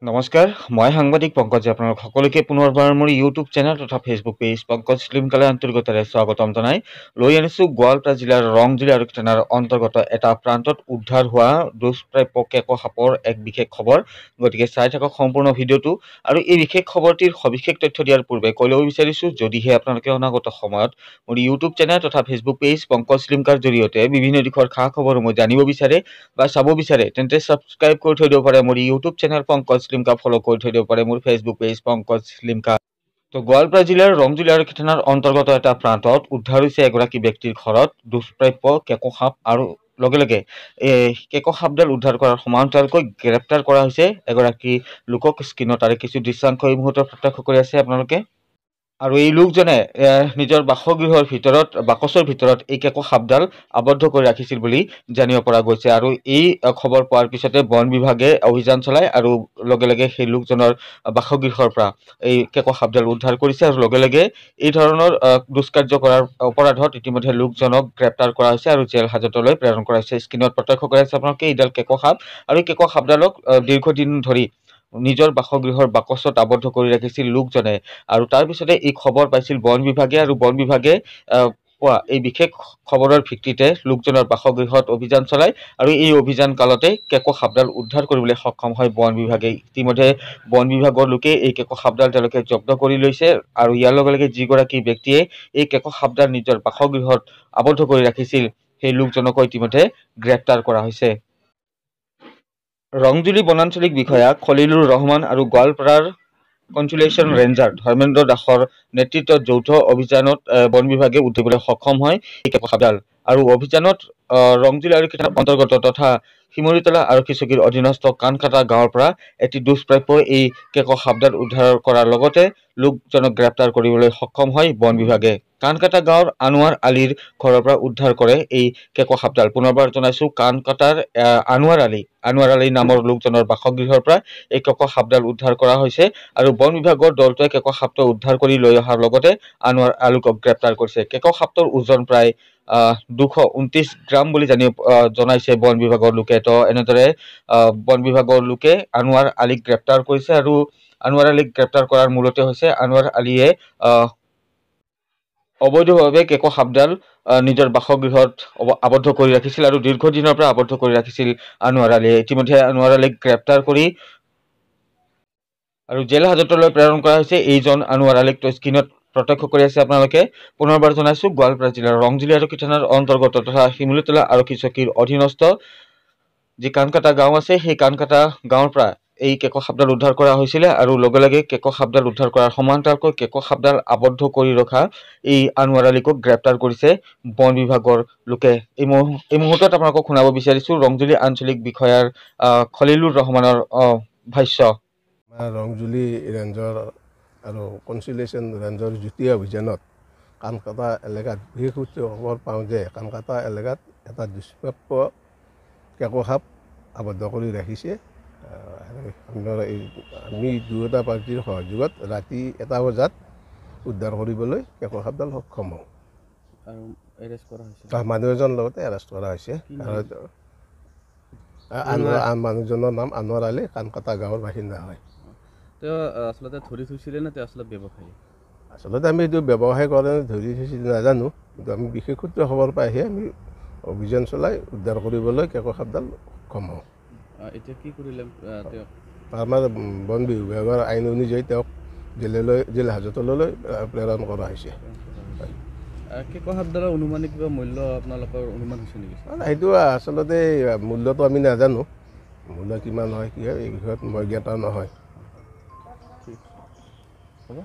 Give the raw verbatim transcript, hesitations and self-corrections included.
নমস্কাৰ, মই সাংবাদিক পংকজে আপোনালোক সকলোকে পুনৰবাৰ মোৰ ইউটিউব চেনেল তথা ফেচবুক পেজ পংকজ ফিল্মকালে আন্তৰিকতাৰে স্বাগতম জনাই লৈ আনিছোঁ গোৱালপাৰা জিলাৰ ৰংজুলি আৰক্ষী থানাৰ অন্তৰ্গত এটা প্ৰান্তত উদ্ধাৰ হোৱা দুষ্প্ৰাপ্য কেক সাপৰ এক বিশেষ খবৰ। গতিকে চাই থাকক সম্পূৰ্ণ ভিডিঅ'টো। আৰু এই বিশেষ খবৰটিৰ সবিশেষ তথ্য দিয়াৰ পূৰ্বে কৈ ল'ব বিচাৰিছোঁ, যদিহে আপোনালোকে অনাগত সময়ত মোৰ ইউটিউব চেনেল তথা ফেচবুক পেজ পংকজ লিমকাৰ জৰিয়তে বিভিন্ন দিশৰ খা খবৰসমূহ জানিব বিচাৰে বা চাব বিচাৰে, তেন্তে ছাবস্ক্ৰাইব কৰি থৈ দিব পাৰে মোৰ YouTube channel Pankaj Limca, follow' কৰি থৈ দিব পাৰে মোৰ ফেচবুক পেজ পংকজ লিমকা। তো গোৱালপাৰা জিলাৰ ৰংজুলি আৰক্ষী থানাৰ অন্তৰ্গত এটা প্ৰান্তত উদ্ধাৰ হৈছে এগৰাকী ব্যক্তিৰ ঘৰত দুষ্প্ৰাপ্য কেকো সাপ, আৰু লগে লগে এই কেকো সাপডাল উদ্ধাৰ কৰাৰ সমান্তৰালকৈ গ্ৰেপ্তাৰ কৰা হৈছে এগৰাকী লোকক। স্ক্ৰীণত তাৰে কিছু দৃশ্যাংশ এই মুহূৰ্তত প্ৰত্যক্ষ কৰি আছে আপোনালোকে। আৰু এই লোকজনে নিজৰ বাসগৃহৰ ভিতৰত বাকচৰ ভিতৰত এই কেকো সাপডাল আবদ্ধ কৰি ৰাখিছিল বুলি জানিব পৰা গৈছে। আৰু এই খবৰ পোৱাৰ পিছতে বন বিভাগে অভিযান চলায় আৰু লগে লগে সেই লোকজনৰ বাসগৃহৰ পৰা এই কেকো সাপডাল উদ্ধাৰ কৰিছে। আৰু লগে লগে এই ধৰণৰ দুষ্কাৰ্য কৰাৰ অপৰাধত ইতিমধ্যে লোকজনক গ্ৰেপ্তাৰ কৰা হৈছে আৰু জেল হাজতলৈ প্ৰেৰণ কৰা হৈছে। স্ক্ৰীণত প্ৰত্যক্ষ কৰি আছে আপোনালোকে এইডাল কেকো সাপ, আৰু এই কেকো সাপডালক দীৰ্ঘদিন ধৰি নিজৰ বাসগৃহৰ বাকচত আবদ্ধ কৰি ৰাখিছিল লোকজনে। আৰু তাৰ পিছতে এই খবৰ পাইছিল বন বিভাগে, আৰু বন বিভাগে পোৱা এই বিশেষ খবৰৰ ভিত্তিতে লোকজনৰ বাসগৃহত অভিযান চলায় আৰু এই অভিযান কালতে কেকো সাপডাল উদ্ধাৰ কৰিবলৈ সক্ষম হয় বন বিভাগে। ইতিমধ্যে বন বিভাগৰ লোকে এই কেকো সাপডাল তেওঁলোকে জব্দ কৰি লৈছে। আৰু ইয়াৰ লগে লগে যিগৰাকী ব্যক্তিয়ে এই কেকো সাপডাল নিজৰ বাসগৃহত আবদ্ধ কৰি ৰাখিছিল সেই লোকজনকো ইতিমধ্যে গ্ৰেপ্তাৰ কৰা হৈছে। ৰংজুলি বনাঞ্চলিক বিষয়া খলিলুৰ ৰহমান আৰু গোৱালপাৰাৰ কনচুলেশ্যন ৰেঞ্জাৰ ধৰ্মেন্দ্ৰ দাসৰ নেতৃত্বত যৌথ অভিযানত বন বিভাগে উদ্ধাৰ সক্ষম হয় এই কেকো সাপডাল। আৰু অভিযানত ৰংজুলি আৰক্ষী থানাৰ অন্তৰ্গত তথা শিমলীতলা আৰক্ষী চকীৰ অধীনস্থ কানকাটা গাঁৱৰ পৰা এটি দুষ্প্ৰাপ্য এই কেকো সাপডাল উদ্ধাৰ কৰাৰ লগতে লোকজনক গ্ৰেপ্তাৰ কৰিবলৈ সক্ষম হয় বন বিভাগে। কানকাটা গাঁৱৰ আনোৱাৰ আলীৰ ঘৰৰ পৰা উদ্ধাৰ কৰে এই কেকো সাপডাল। পুনৰবাৰ জনাইছোঁ, কানকাটাৰ আনোৱাৰ আলী আনোৱাৰ আলী নামৰ লোকজনৰ বাসগৃহৰ পৰা এই কেকো সাপডাল উদ্ধাৰ কৰা হৈছে। আৰু বন বিভাগৰ দলটোৱে কেকো সাপটো উদ্ধাৰ কৰি লৈ অহাৰ লগতে আনোৱাৰ আলীক গ্ৰেপ্তাৰ কৰিছে। কেকো সাপটোৰ ওজন প্ৰায় দুশ ঊনত্ৰিছ গ্ৰাম বুলি জানি জনাইছে বন বিভাগৰ লোকে। তো এনেদৰে বন বিভাগৰ লোকে আনোৱাৰ আলীক গ্ৰেপ্তাৰ কৰিছে। আৰু আনোৱাৰ আলীক গ্ৰেপ্তাৰ কৰাৰ মূলতে হৈছে আনোৱাৰ আলীয়ে অবৈধভাৱে কেকো সাপডাল নিজৰ বাসগৃহত আবদ্ধ কৰি ৰাখিছিল আৰু দীৰ্ঘদিনৰ পৰা আবদ্ধ কৰি ৰাখিছিল আনোৱাৰ আলীয়ে। ইতিমধ্যে আনোৱাৰ আলীক গ্ৰেপ্তাৰ কৰি আৰু জেল হাজতলৈ প্ৰেৰণ কৰা হৈছে এইজন আনোৱাৰ আলীক। তো স্ক্ৰীণত প্ৰত্যক্ষ কৰি আছে আপোনালোকে। পুনৰবাৰ জনাইছোঁ, গোৱালপাৰা জিলাৰ ৰংজুলি আৰক্ষী থানাৰ অন্তৰ্গত তথা শিমলীতলা আৰক্ষী চকীৰ অধীনস্থ যি কানকাটা গাঁও আছে সেই কানকাটা গাঁৱৰ পৰা এই কেকো সাপডাল উদ্ধাৰ কৰা হৈছিলে। আৰু লগে লগে কেকো সাপডাল উদ্ধাৰ কৰাৰ সমান্তৰালকৈ কেকো সাপডাল আবদ্ধ কৰি ৰখা এই আনোৱাৰ আলীকো গ্ৰেপ্তাৰ কৰিছে বন বিভাগৰ লোকে। এই এই মুহূৰ্তত আপোনালোকক শুনাব বিচাৰিছোঁ ৰংজুলি আঞ্চলিক বিষয়াৰ খলিলুৰ ৰহমানৰ ভাষ্য। ৰংজুলি ৰেঞ্জৰ আৰু কনচিলেশ্যন ৰেঞ্জৰ যুটীয়া অভিযানত কানকাটা এলেকাত বিশেষ সূত্ৰে খবৰ পাওঁ যে কানকাটা এলেকাত এটা দুষ্প্ৰাপ্য কেকো সাপ আবদ্ধ কৰি ৰাখিছে। আমি দুয়োটা পাৰ্টীৰ সহযোগত ৰাতি এটা বজাত উদ্ধাৰ কৰিবলৈ কেকো সাপডাল সক্ষম হওঁ। মানুহ এজনৰ লগতে এৰেষ্ট কৰা হৈছে। আৰু মানুহজনৰ নাম আনোৱাৰ আলী, কানকাটা গাঁৱৰ বাসিন্দা হয়। তেওঁ আচলতে ধৰি থৈছিলে নে তেওঁ আচলতে ব্যৱসায়ী? আচলতে আমি এইটো ব্যৱসায় কৰে ধৰি থৈছিল নাজানো, কিন্তু আমি বিশেষ সূত্ৰে খবৰ পাইহে আমি অভিযান চলাই উদ্ধাৰ কৰিবলৈ কেকো সাপডাল সক্ষম হওঁ। এতিয়া কি কৰিলে তেওঁক? আমাৰ বন বিভাগৰ আইন অনুযায়ী তেওঁক জেললৈ জেল হাজতলৈ প্ৰেৰণ কৰা হৈছে। কেকো সাপডালৰ অনুমানিক কিবা মূল্য আপোনালোকৰ অনুমান হৈছে নেকি? সেইটো আচলতে মূল্যটো আমি নাজানো, মূল্য কিমান হয় কি হয় এই বিষয়ত মই জ্ঞাত নহয়। হ'ব।